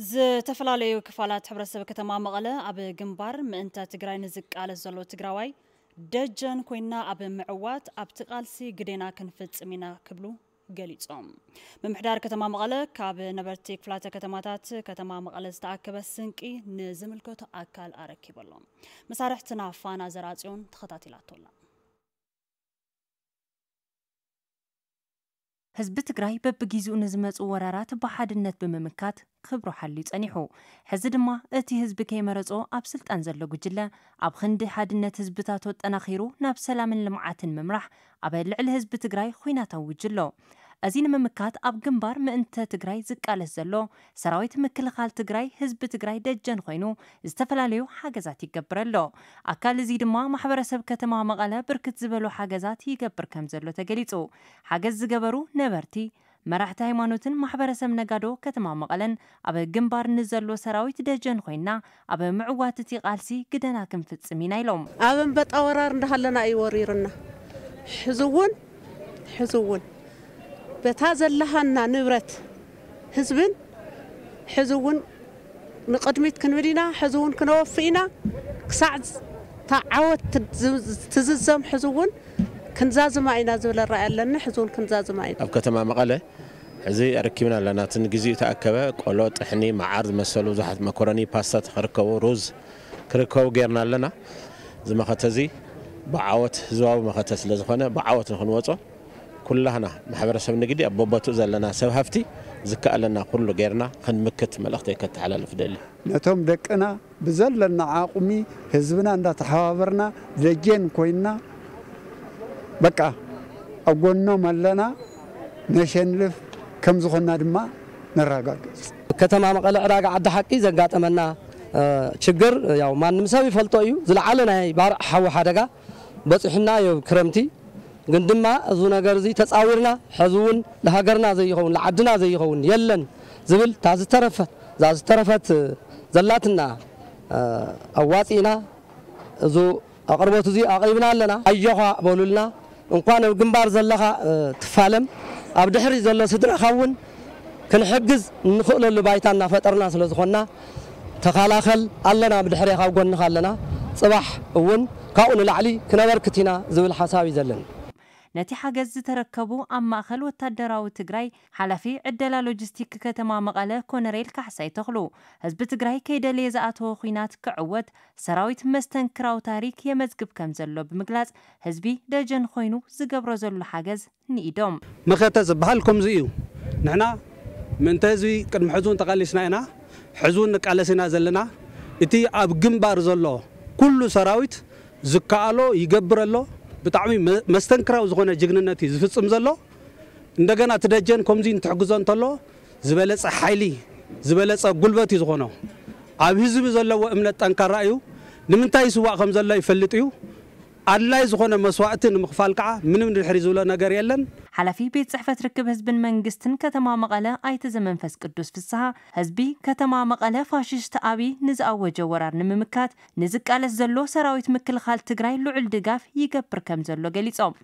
ዝተፈላለዩ ክፋላት ሕብረተሰብ ከተማ መቐለ ኣብ ግንባር ምእንተ ትግራይ ንዝቃለስ ዘሎ ትግራዋይ ደጀን ኮይና ኣብ ምዕዋት ኣብቲ ቃልሲ ግዴና ክንፍጽም ኢና ክብሉ ገሊጾም። ምምሕዳር ከተማ መቐለ ካብ ነበርቲ ክፍላተ ከተማታት ከተማ መቐለ ዝተኣከበ ስንቂ ንዝምልከቶ ኣካል ኣረኪቡ ኣሎ። መሳርሕትና ፋና ዘርኣጽዮን ተኸታቲላቶ ኣላ። ህዝቢ ትግራይ በብጊዜኡ ንዝመፁ ወራራት ብሓድነት ብምምካት ክብሩ ሓልዩ ጸኒሑ። ሕዚ ድማ እቲ ህዝቢ ከይመረጾ ኣብ ስልጣን ዘሎ ጉጅለ ኣብ ክንዲ ሓድነት ህዝብታት ኣጠናኺሩ ናብ ሰላምን ልምዓትን ምምራሕ ኣብ ልዕሊ ህዝቢ ትግራይ ኹናት ኣውጁ ኣሎ። እዚ ንምምካት ኣብ ግንባር ምእንተ ትግራይ ዝቃለስ ዘሎ ሰራዊት ምክልኻል ትግራይ ህዝቢ ትግራይ ደጀን ኮይኑ ዝተፈላለዩ ሓገዛት ይገብር ኣሎ። ኣካል እዚ ድማ ማሕበረሰብ ከተማ መቐለ ብርክት ዝበሉ ሓገዛት ይገብር ከም ዘሎ ተገሊጹ። ሓገዝ ዝገበሩ ነበርቲ፣ መራሕቲ ሃይማኖትን ማሕበረሰብ ነጋዶ ከተማ መቐለን ኣብ ግንባር ንዘሎ ሰራዊት ደጀን ኮይና ኣብ ምዕዋት እቲ ቃልሲ ግደና ክንፍጽም ኢና ኢሎም። ኣብ ኣንበጣ ወራር እንዳሃለና እዩ ወሪርና። ሕዚ እውን ሕዚ እውን በታ ዘለሃና ንብረት ህዝብን ሕዚ እውን ንቕድሚት ክንብል ኢና። ሕዚ እውን ክነወፍእ ኢና። ክሳዕ እታ ዓወት ትዝ- ትዝዘም ሕዚ እውን ክንዛዝማ ኢና ዝብል ራእይ ኣለኒ። ሕዚ እውን ክንዛዝማ ኢና። ኣብ ከተማ መቐለ ሕዚ ኣረኪብና ኣለና። እቲ ንግዚኡ ተኣከበ ቆሎ፣ ጥሕኒ፣ መዓር ዝመሰሉ ብዙሓት መኮረኒ፣ ፓስታ ክርከቡ፣ ሩዝ ክርከቡ ጌርና ኣለና። እዚ መኸተ እዚ ብዓወት ህዝባዊ መኸተ ስለ ዝኾነ ብዓወት ንክንወጾ ኩላህና ማሕበረሰብ ንግዲ ኣብ በቦትኡ ዘለና ሰብ ሃፍቲ ዝከኣለና ኩሉ ጌርና ክንምክት መልእኽተይ ከተሓላልፍ ደሊ። ነቶም ደቅና ብዘለና ዓቕሚ ህዝብና እንዳተሓባበርና ደጀን ኮይንና በቃ ኣብ ጎኖም ኣለና፣ ነሸንፍ ከም ዝኾንና ድማ ነረጋግጽ። ከተማ መቐለ ዕዳጋ ዓዲ ሓቂ ዘጋጠመና፣ እ፣ ችግር ያው ማንም ሰብ ይፈልጦ እዩ። ዝለዓለ ናይ ባርዕ ሓዊ ሓደጋ በጺሑና እዩ ክረምቲ። ግን ድማ እዚ ነገር እዚ ተጻዊርና፣ ሕዚ እውን ንሃገርና ዘይኸውን፣ ንዓድና ዘይኸውን የለን ዝብል፣ እታ ዝተረፈት፣ እዛ ዝተረፈት ዘላትና፣ እ፣ ኣዋጺእና፣ እዚ ኣቕርቦት እዚ ኣቕሪብና ኣለና። ኣጆኻ በሉልና። እንኳን ኣብ ግንባር ዘለኻ፣ እ፣ ትፋለም፣ ኣብ ድሕሪ ዘሎ ስድራኻ እውን ክንሕግዝ እንኽእለሉ ባይታ እናፈጠርና ስለ ዝኾንና፣ ተኸላኸል፣ ኣለና፣ ብድሕሬኻ፣ ኣብ ጎንኻ ኣለና። ጽባሕ እውን ካብኡ ንላዕሊ ክነበርክት ኢና ዝብል ሓሳብ እዩ ዘለኒ። ነቲ ሓገዝ ዝተረከቡ ኣብ ማእኸል ወታደራዊ ትግራይ ሓላፊ ዕደላ ሎጂስቲክ ከተማ መቐለ ኮነሬል ካሕሳይ ተኽሉ፣ ህዝቢ ትግራይ ከይደለየ ዝኣተወ ኹናት ክዕወት ሰራዊት መስተንክራዊ ታሪክ የመዝግብ ከም ዘሎ ብምግላጽ፣ ህዝቢ ደጀን ኮይኑ ዝገብሮ ዘሎ ሓገዝ ንኢዶም። መኸተ ዝበሃል ከምዚ እዩ። ንሕና ምእንተ ህዝቢ ቅድሚ ሕዚ እውን ተቓሊስና ኢና፣ ሕዚ እውን ንቃለስ ኢና ዘለና። እቲ ኣብ ግንባር ዘሎ ኩሉ ሰራዊት ዝከኣሎ ይገብር ኣሎ። ብጣዕሚ መ-፣ መስተንክራዊ ዝኾነ ጅግንነት እዩ ዝፍጽም ዘሎ። እንደገና እቲ ደጀን ከምዚ እንትሕግዞ እንተሎ ዝበለጸ ሓይሊ፣ ዝበለጸ ጉልበት እዩ ዝኾኖ። ኣብ ህዝቢ ዘለዎ እምነት ጠንካራ እዩ። ንምንታይ ይስዋእ ከም ዘሎ ይፈልጥ እዩ። ኣድላይ ዝኾነ መስዋእቲ ንምኽፋል ከዓ ምንም ንድሕሪ ዝብሎ ነገር የለን። ሓላፊ ቤት ጽሕፈት ርክብ ህዝብን መንግስትን ከተማ መቐለ ኣይተ ዘመንፈስ ቅዱስ ፍስሃ፣ ህዝቢ ከተማ መቐለ ፋሽስት ኣብይ ንዝኣወጀ ወራር ንምምካት ንዝቃለስ ዘሎ ሰራዊት ምክልኻል ትግራይ ልዑል ድጋፍ ይገብር ከም ዘሎ ገሊጾም።